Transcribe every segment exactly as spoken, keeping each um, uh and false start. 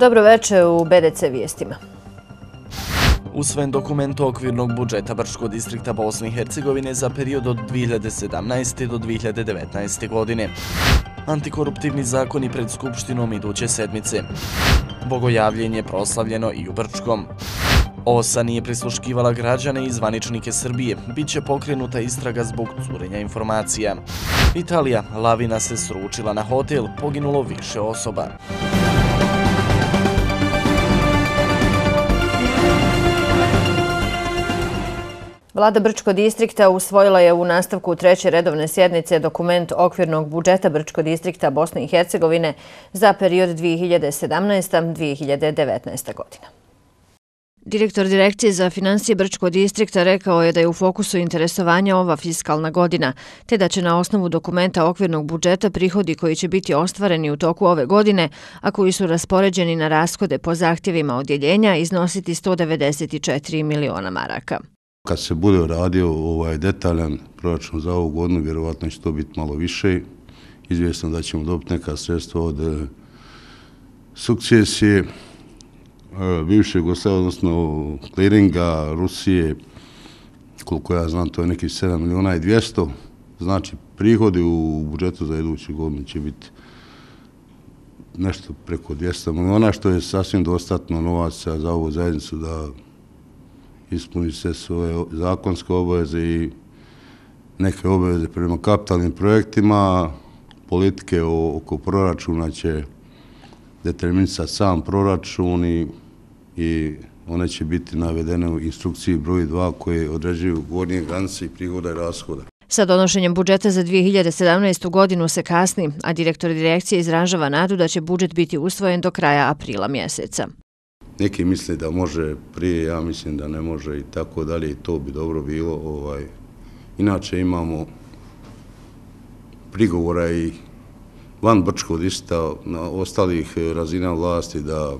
Dobro večer u B D C vijestima. Usvojen dokument okvirnog budžeta Brčkog distrikta Bosne i Hercegovine za period od dvije hiljade sedamnaeste. do dvije hiljade devetnaeste. godine. Antikoruptivni zakoni pred Skupštinom iduće sedmice. Bogojavljenje proslavljeno i u Brčkom. O S A nije prisluškivala građane i zvaničnike Srbije. Biće pokrenuta istraga zbog curenja informacija. Italija, lavina se sručila na hotel, poginulo više osoba. Vlada Brčkog distrikta usvojila je u nastavku treće redovne sjednice dokument okvirnog budžeta Brčkog distrikta Bosne i Hercegovine za period dvije hiljade sedamnaesta. do dvije hiljade devetnaeste. godina. Direktor Direkcije za financije Brčkog distrikta rekao je da je u fokusu interesovanja ova fiskalna godina, te da će na osnovu dokumenta okvirnog budžeta prihodi koji će biti ostvareni u toku ove godine, a koji su raspoređeni na rashode po zahtjevima odjeljenja, iznositi sto devedeset četiri miliona maraka. Kad se bude radio ovaj detaljan proračun za ovu godinu, vjerovatno će to biti malo više. Izvjesno da ćemo dobiti neka sredstva od e, sukcesije, e, bivšeg Jugoslavije, odnosno kliringa, Rusije, koliko ja znam, to je nekih sedam miliona i dvjesto. Znači, prihodi u budžetu za iduću godinu će biti nešto preko dvjesto miliona, što je sasvim dostatno novaca za ovu zajednicu da ispuni se svoje zakonske obaveze i neke obaveze prema kapitalnim projektima. Politike oko proračuna će determinisati sam proračun i, i one će biti navedene u instrukciji broj dva koje određuju gornje granice i prihoda i rashoda. Sa donošenjem budžeta za dvije hiljade sedamnaestu. godinu se kasni, a direktor direkcije izražava nadu da će budžet biti usvojen do kraja aprila mjeseca. Neki misle da može prije, ja mislim da ne može i tako dalje i to bi dobro bilo. Ovaj. Inače imamo prigovora i van Brčkog distrikta na ostalih razina vlasti da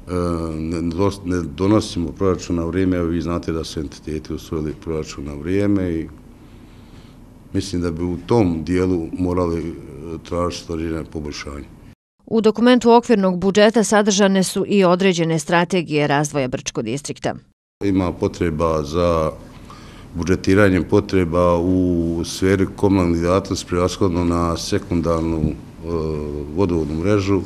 e, ne donosimo proračun na vrijeme. Evo vi znate da su entiteti usvojili proračun na vrijeme i mislim da bi u tom dijelu morali tražiti određene poboljšanje. U dokumentu okvirnog budžeta sadržane su i određene strategije razvoja Brčkog distrikta. Ima potreba za budžetiranjem potreba u sferi komunalnih djelatnosti prevashodno na sekundarnu e, vodovodnu mrežu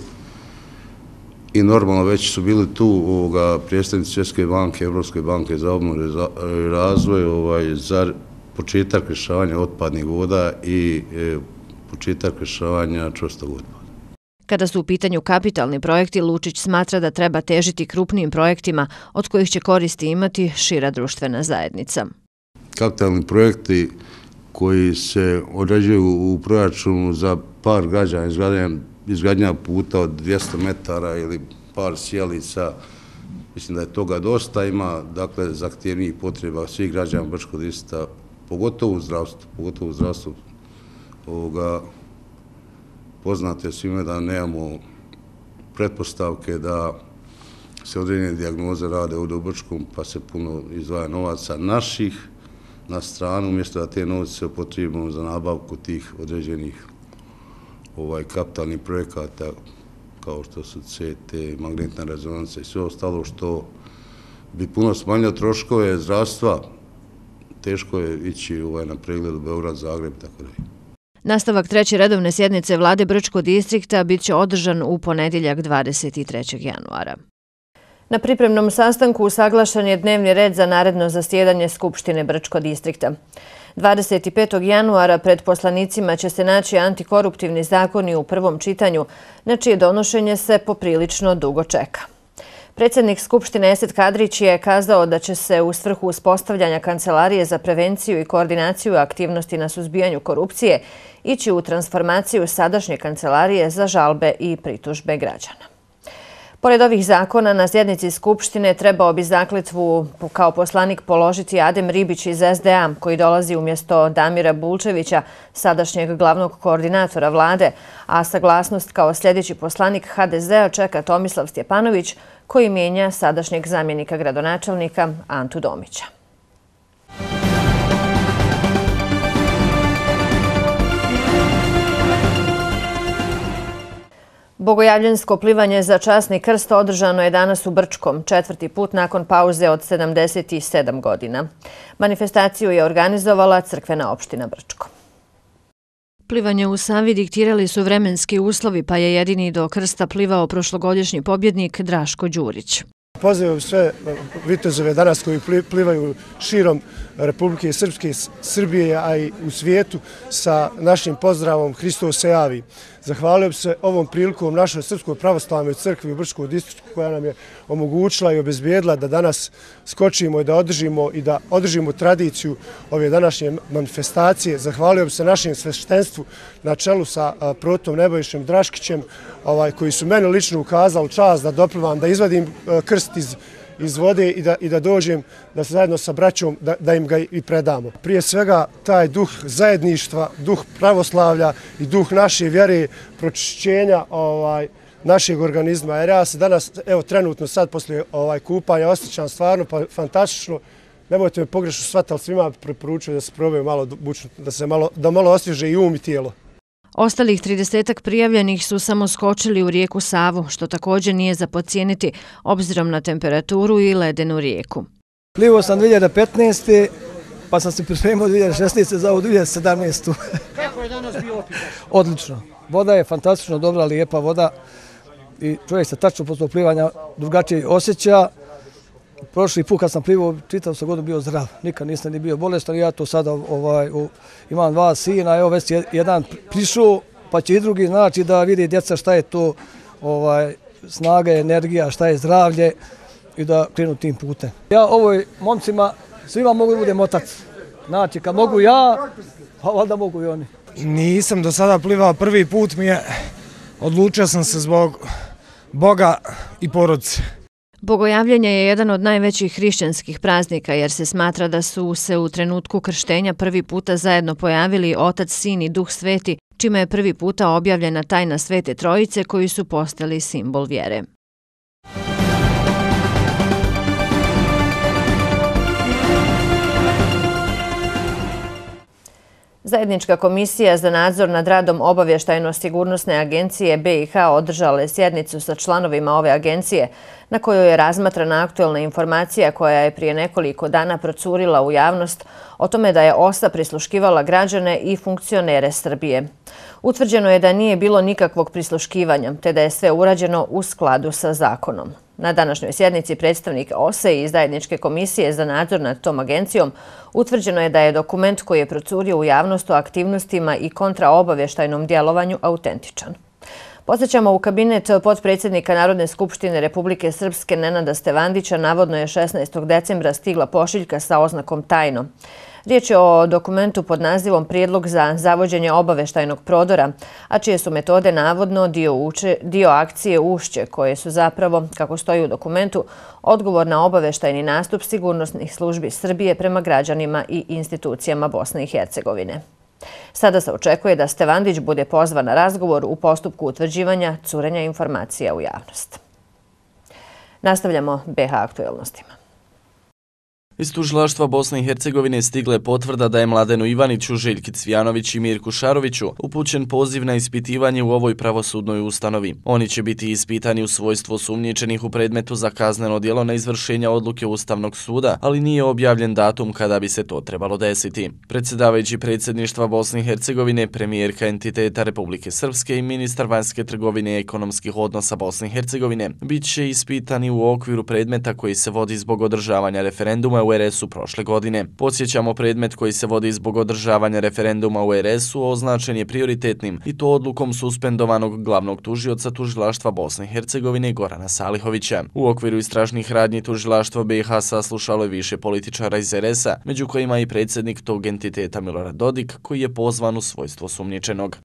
i normalno već su bili tu ovoga, predstavnici Svjetske banke, Evropske banke za obnovu i razvoj ovaj, za početak rješavanja otpadnih voda i e, početak rješavanja čvrstog otpada. Kada su u pitanju kapitalni projekti, Lučić smatra da treba težiti krupnijim projektima od kojih će koristi imati šira društvena zajednica. Kapitalni projekti koji se određuju u proračunu za par građana, izgradnja, izgradnja puta od dvjesto metara ili par sjelica, mislim da je toga dosta, ima dakle zahtjevnijih potreba svih građana Brčkog distrikta, pogotovo u zdravstvu, pogotovo u zdravstvu ovoga. Poznate svime da nemamo pretpostavke da se određene dijagnoze rade ovdje u Brčkom, pa se puno izdvaja novaca naših na stranu, umjesto da te novce se upotrijebimo za nabavku tih određenih ovaj, kapitalnih projekata, kao što su C T, magnetna rezonanca i sve ostalo, što bi puno smanjilo troškove zdravstva. Teško je ići ovaj, na pregled u Beograd, Zagreb i tako dalje. Nastavak treće redovne sjednice vlade Brčkog distrikta bit će održan u ponedjeljak dvadeset trećeg januara. Na pripremnom sastanku usaglašen je dnevni red za naredno zasjedanje Skupštine Brčkog distrikta. dvadeset petog januara pred poslanicima će se naći antikoruptivni zakoni u prvom čitanju, na čije donošenje se poprilično dugo čeka. Predsjednik Skupštine Esed Kadrić je kazao da će se u svrhu uspostavljanja Kancelarije za prevenciju i koordinaciju aktivnosti na suzbijanju korupcije ići u transformaciju sadašnje Kancelarije za žalbe i pritužbe građana. Pored ovih zakona, na sjednici Skupštine trebao bi zakletvu kao poslanik položiti Adem Ribić iz S D A, koji dolazi umjesto Damira Bulčevića, sadašnjeg glavnog koordinatora vlade, a saglasnost kao sljedeći poslanik H D Z-a čeka Tomislav Stjepanović, koji mijenja sadašnjeg zamjenika gradonačelnika Antu Domića. Bogojavljansko plivanje za časni krst održano je danas u Brčkom, četvrti put nakon pauze od sedamdeset sedam godina. Manifestaciju je organizovala crkvena opština Brčko. Plivanje u Savi diktirali su vremenski uslovi, pa je jedini do krsta plivao prošlogodišnji pobjednik Draško Đurić. Pozivam sve vitezove danas koji plivaju širom Republike Srpske, Srbije, a i u svijetu sa našim pozdravom Hristos se javi. Zahvalio bi se ovom prilikom našoj Srpskoj pravoslavnoj crkvi u Brčkom distriktu koja nam je omogućila i obezbijedila da danas skočimo i da održimo i da održimo tradiciju ove današnje manifestacije. Zahvalio bi se našem sveštenstvu na čelu sa protom Nebojšem Draškićem koji su meni lično ukazali čast da doplivam, da izvadim krst iz iz vode i da, i da dođem da se zajedno sa braćom da, da im ga i predamo. Prije svega taj duh zajedništva, duh pravoslavlja i duh naše vjere, pročišćenja ovaj, našeg organizma. Jer ja se danas, evo trenutno sad poslije ovaj, kupanja osjećam stvarno pa, fantastično. Nemojte me pogrešno shvatiti, ali svima preporučujem da se probaju malo bučno, da se malo, da malo osvježe i um i tijelo. Ostalih tridesetak prijavljenih su samo skočili u rijeku Savu, što također nije za podcijeniti obzirom na temperaturu i ledenu rijeku. Plivao sam dvije hiljade petnaeste. pa sam se pripremio dvije hiljade šesnaeste. za ovu dvije hiljade sedamnaestu. Kako je danas bio opet? Odlično. Voda je fantastično dobra, lijepa voda i čovjek se tačno posle plivanja drugačije osjeća. Prošli put kad sam plivao, čitav sam godinu bio zdrav, nikad nisam ni bio bolestan. Ja to sada ovaj, u, imam dva sina, evo već jedan prišao, pa će i drugi znači da vidi djeca šta je to ovaj, snaga, energija, šta je zdravlje i da krenu tim putem. Ja ovoj momcima svima mogu da budem otac. Znači kad mogu ja, pa valjda mogu i oni. Nisam do sada plivao, prvi put mi je, odlučio sam se zbog Boga i porodice. Bogojavljenje je jedan od najvećih hrišćanskih praznika jer se smatra da su se u trenutku krštenja prvi puta zajedno pojavili Otac, Sin i Duh Sveti, čime je prvi puta objavljena tajna Svete Trojice koji su postali simbol vjere. Zajednička komisija za nadzor nad radom Obavještajno-sigurnosne agencije B i H održala je sjednicu sa članovima ove agencije na kojoj je razmatrana aktuelna informacija koja je prije nekoliko dana procurila u javnost o tome da je O S A prisluškivala građane i funkcionere Srbije. Utvrđeno je da nije bilo nikakvog prisluškivanja, te da je sve urađeno u skladu sa zakonom. Na današnjoj sjednici predstavnik O S A i Zajedničke komisije za nadzor nad tom agencijom utvrđeno je da je dokument koji je procurio u javnost o aktivnostima i kontraobavještajnom djelovanju autentičan. Podsjećamo, u kabinet potpredsjednika Narodne skupštine Republike Srpske Nenada Stevandića navodno je šesnaestog decembra stigla pošiljka sa oznakom tajno. Riječ je o dokumentu pod nazivom Prijedlog za zavođenje obavještajnog prodora, a čije su metode navodno dio, uče, dio akcije Ušće, koje su zapravo, kako stoji u dokumentu, odgovor na obavještajni nastup sigurnosnih službi Srbije prema građanima i institucijama Bosne i Hercegovine. Sada se očekuje da Stevandić bude pozvan na razgovor u postupku utvrđivanja curenja informacija u javnost. Nastavljamo B H aktuelnostima. Iz tužilaštva Bosne i Hercegovine stigla je potvrda da je Mladenu Ivaniću, Željki Cvjanović i Mirku Šaroviću upućen poziv na ispitivanje u ovoj pravosudnoj ustanovi. Oni će biti ispitani u svojstvu sumnjičenih u predmetu za kazneno djelo na izvršenja odluke Ustavnog suda, ali nije objavljen datum kada bi se to trebalo desiti. Predsjedavajući predsjedništva Bosne i Hercegovine, premijerka entiteta Republike Srpske i ministar vanjske trgovine i ekonomskih odnosa Bosne i Hercegovine bit će ispitani u okviru predmeta koji se vodi zbog održavanja referenduma u R S U prošle godine. Podsjećamo, predmet koji se vodi zbog održavanja referenduma u R S U označen je prioritetnim i to odlukom suspendovanog glavnog tužioca tužilaštva Bosne i Hercegovine Gorana Salihovića. U okviru istražnih radnji tužilaštva B i H saslušalo je više političara iz R S A, među kojima i predsjednik tog entiteta Milorad Dodik, koji je pozvan u svojstvo sumnjičenog.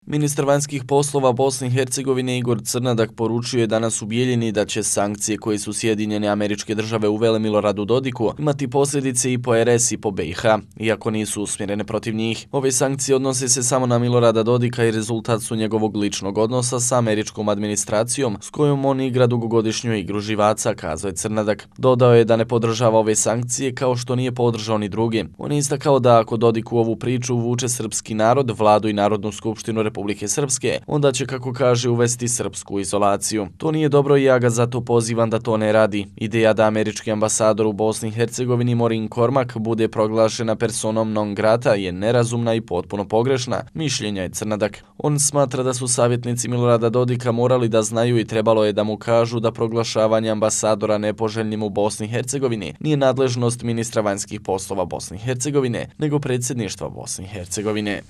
Ministar vanjskih poslova Bosne i Hercegovine Igor Crnadak poručio je danas u Bijeljini da će sankcije koje su Sjedinjene Američke Države uvele Miloradu Dodiku imati posljedice i po R S i po B i H, iako nisu usmjerene protiv njih. Ove sankcije odnose se samo na Milorada Dodika i rezultat su njegovog ličnog odnosa sa američkom administracijom s kojom on igra dugogodišnju igru živaca, kazao je Crnadak. Dodao je da ne podržava ove sankcije kao što nije podržao ni druge. On je istakao da ako Dodik u ovu priču uvuče srpski narod, vladu i Narodnu skupštinu Republike Srpske, onda će, kako kaže, uvesti srpsku izolaciju. To nije dobro i ja ga zato pozivam da to ne radi. Ideja da američki ambasador u Bosni i Hercegovini Morin Kormak bude proglašena personom non grata je nerazumna i potpuno pogrešna, mišljenja je Crnadak. On smatra da su savjetnici Milorada Dodika morali da znaju i trebalo je da mu kažu da proglašavanje ambasadora nepoželjnim u Bosni i Hercegovini nije nadležnost ministra vanjskih poslova Bosne i Hercegovine, nego predsjedništva Bosne i Hercegovine.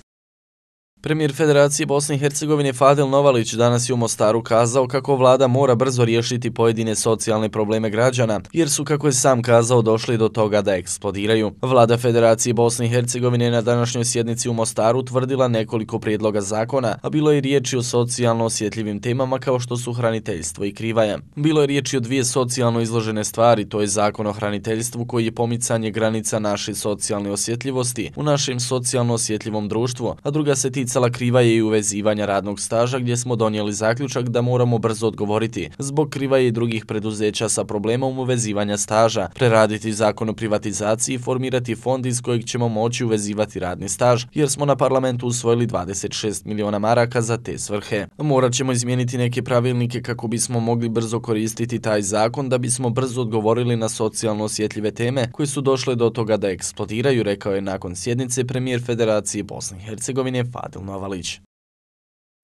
Premijer Federacije Bosne i Hercegovine Fadil Novalić danas je u Mostaru kazao kako vlada mora brzo riješiti pojedine socijalne probleme građana, jer su, kako je sam kazao, došli do toga da eksplodiraju. Vlada Federacije Bosne i Hercegovine na današnjoj sjednici u Mostaru tvrdila nekoliko prijedloga zakona, a bilo je riječi o socijalno osjetljivim temama kao što su hraniteljstvo i krivaja. Bilo je riječi o dvije socijalno izložene stvari, to je zakon o hraniteljstvu koji je pomicanje granica naše socijalne osjetljivosti u našem socijalno osjetljivom društvu, a druga se tica krivaje i uvezivanja radnog staža, gdje smo donijeli zaključak da moramo brzo odgovoriti zbog krivaje i drugih preduzeća sa problemom uvezivanja staža, preraditi zakon o privatizaciji i formirati fond iz kojeg ćemo moći uvezivati radni staž, jer smo na parlamentu usvojili dvadeset šest miliona maraka za te svrhe. Morat ćemo izmijeniti neke pravilnike kako bismo mogli brzo koristiti taj zakon da bismo brzo odgovorili na socijalno osjetljive teme koje su došle do toga da eksplodiraju, rekao je nakon sjednice premijer Federacije Bosne i Hercegovine Fadil Novalić.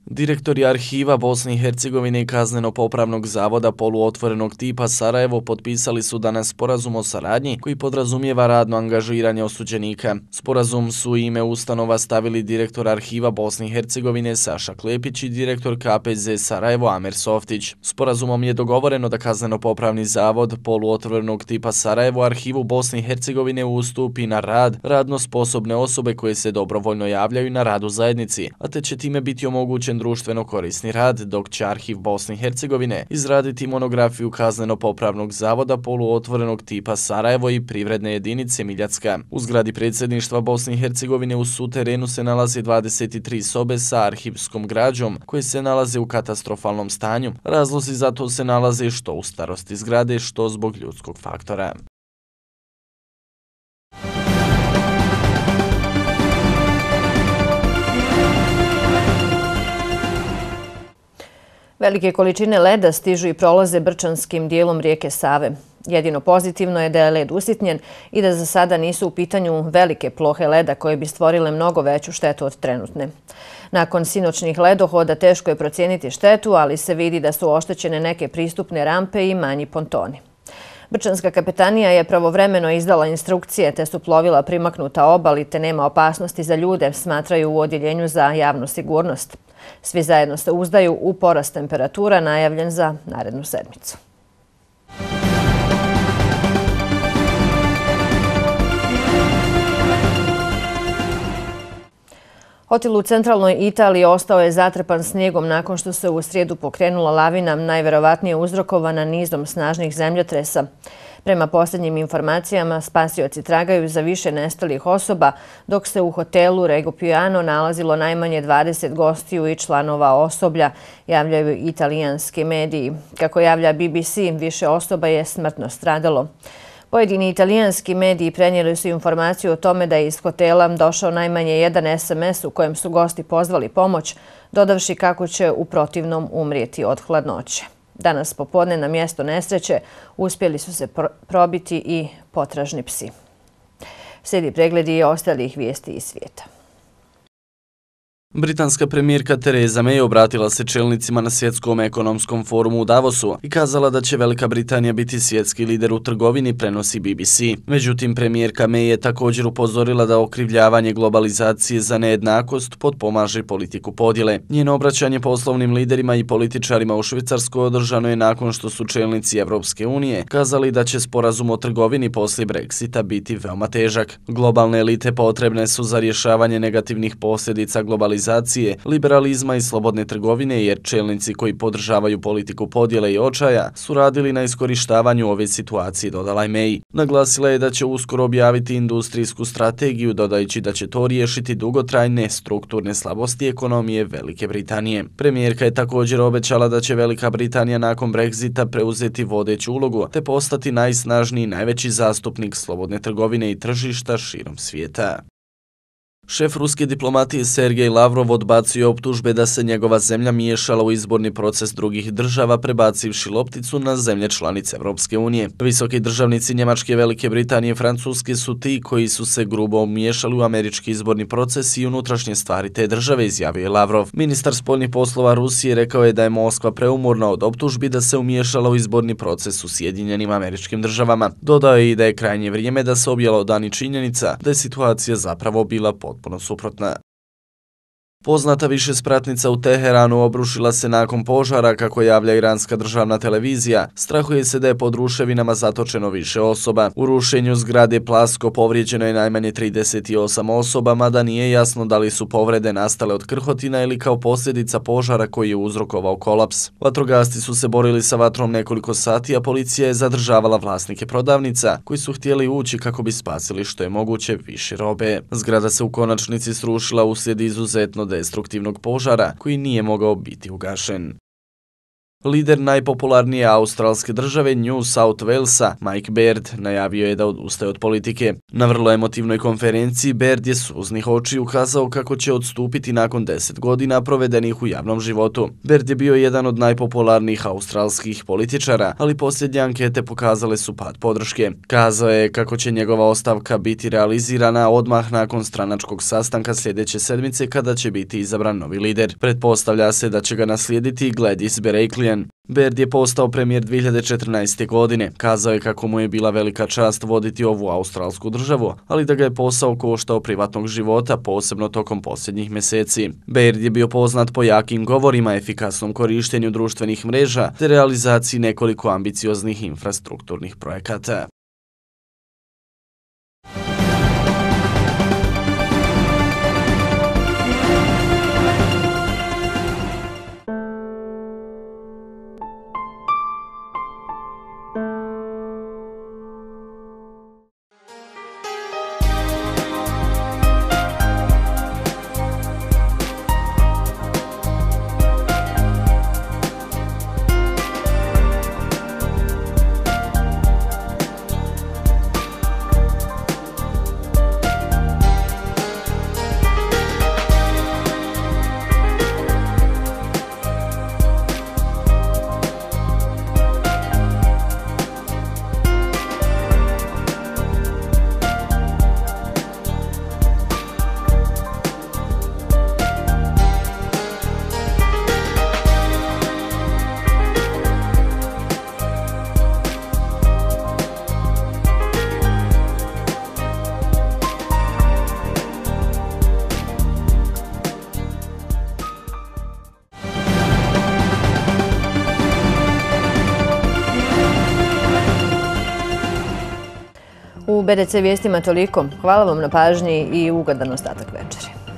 Direktori arhiva Bosne i Hercegovine i Kazneno-popravnog zavoda poluotvorenog tipa Sarajevo potpisali su danas sporazum o saradnji koji podrazumijeva radno angažiranje osuđenika. Sporazum su ime ustanova stavili direktor arhiva Bosne i Hercegovine Saša Klepić i direktor K P Z Sarajevo Amer Softić. Sporazumom je dogovoreno da Kazneno-popravni zavod poluotvorenog tipa Sarajevo arhivu Bosne i Hercegovine ustupi na rad radno sposobne osobe koje se dobrovoljno javljaju na rad u zajednici, a te će time biti omogućen društveno korisni rad, dok će Arhiv Bosne i Hercegovine izraditi monografiju Kazneno-popravnog zavoda poluotvorenog tipa Sarajevo i privredne jedinice Miljacka. U zgradi predsjedništva Bosne i Hercegovine u suterenu se nalaze dvadeset tri sobe sa arhivskom građom koje se nalaze u katastrofalnom stanju. Razlozi za to se nalaze što u starosti zgrade, što zbog ljudskog faktora. Velike količine leda stižu i prolaze brčanskim dijelom rijeke Save. Jedino pozitivno je da je led usitnjen i da za sada nisu u pitanju velike plohe leda koje bi stvorile mnogo veću štetu od trenutne. Nakon sinoćnih ledohoda teško je procijeniti štetu, ali se vidi da su oštećene neke pristupne rampe i manji pontoni. Brčanska kapetanija je pravovremeno izdala instrukcije te su plovila primaknuta obali te nema opasnosti za ljude, smatraju u Odjeljenju za javnu sigurnost. Svi zajedno se uzdaju u porast temperatura najavljen za narednu sedmicu. Hotel u centralnoj Italiji ostao je zatrpan snijegom nakon što se u srijedu pokrenula lavina, najverovatnije uzrokovana nizom snažnih zemljotresa. Prema posljednjim informacijama, spasioci tragaju za više nestalih osoba, dok se u hotelu Rigopiano nalazilo najmanje dvadeset gostiju i članova osoblja, javljaju italijanski mediji. Kako javlja B B C, više osoba je smrtno stradalo. Pojedini italijanski mediji prenijeli su informaciju o tome da je iz hotela došao najmanje jedan S M S u kojem su gosti pozvali pomoć, dodavši kako će u protivnom umrijeti od hladnoće. Danas popodne na mjesto nesreće uspjeli su se probiti i potražni psi. Slijedi pregledi i ostalih vijesti iz svijeta. Britanska premijerka Theresa May obratila se čelnicima na svjetskom ekonomskom forumu u Davosu i kazala da će Velika Britanija biti svjetski lider u trgovini, prenosi B B C. Međutim, premijerka May je također upozorila da okrivljavanje globalizacije za nejednakost potpomaže politiku podjele. Njeno obraćanje poslovnim liderima i političarima u Švicarskoj održano je nakon što su čelnici Evropske unije kazali da će sporazum o trgovini poslije Brexita biti veoma težak. Globalne elite potrebne su za rješavanje negativnih posljedica globalizacije, liberalizma i slobodne trgovine, jer čelnici koji podržavaju politiku podjele i očaja su radili na iskorištavanju ove situacije, dodala je May. Naglasila je da će uskoro objaviti industrijsku strategiju, dodajući da će to riješiti dugotrajne strukturne slabosti ekonomije Velike Britanije. Premijerka je također obećala da će Velika Britanija nakon Brexita preuzeti vodeću ulogu te postati najsnažniji i najveći zastupnik slobodne trgovine i tržišta širom svijeta. Šef ruske diplomatije Sergej Lavrov odbacio optužbe da se njegova zemlja miješala u izborni proces drugih država, prebacivši lopticu na zemlje članice Evropske unije. Visoki državnici Njemačke, Velike Britanije i Francuske su ti koji su se grubo miješali u američki izborni proces i unutrašnje stvari te države, izjavio je Lavrov. Ministar spoljnih poslova Rusije rekao je da je Moskva preumorna od optužbi da se umiješala u izborni proces u Sjedinjenim Američkim Državama. Dodao je i da je krajnje vrijeme da se objelodani činjenica da je situacija zapravo bila potpuno suprotna. Poznata višespratnica u Teheranu obrušila se nakon požara, kako javlja iranska državna televizija. Strahuje se da je pod ruševinama zatočeno više osoba. U rušenju zgrade Plasko povrijeđeno je najmanje trideset osam osoba, mada nije jasno da li su povrede nastale od krhotina ili kao posljedica požara koji je uzrokovao kolaps. Vatrogasci su se borili sa vatrom nekoliko sati, a policija je zadržavala vlasnike prodavnica koji su htjeli ući kako bi spasili što je moguće više robe. Zgrada se u konačnici srušila uslijed izuzetno destruktivnog požara koji nije mogao biti ugašen. Lider najpopularnije australske države New South Walesa, Mike Baird, najavio je da odustaje od politike. Na vrlo emotivnoj konferenciji Baird je suznih očiju ukazao kako će odstupiti nakon deset godina provedenih u javnom životu. Baird je bio jedan od najpopularnijih australskih političara, ali posljednje ankete pokazale su pad podrške. Kazao je kako će njegova ostavka biti realizirana odmah nakon stranačkog sastanka sljedeće sedmice kada će biti izabran novi lider. Pretpostavlja se da će ga naslijediti Gladys Berejiklian. Baird je postao premijer dvije hiljade četrnaeste. godine. Kazao je kako mu je bila velika čast voditi ovu australsku državu, ali da ga je posao koštao privatnog života, posebno tokom posljednjih mjeseci. Baird je bio poznat po jakim govorima, efikasnom korištenju društvenih mreža te realizaciji nekoliko ambicioznih infrastrukturnih projekata. U B D C vijestima toliko. Hvala vam na pažnji i ugodan ostatak večeri.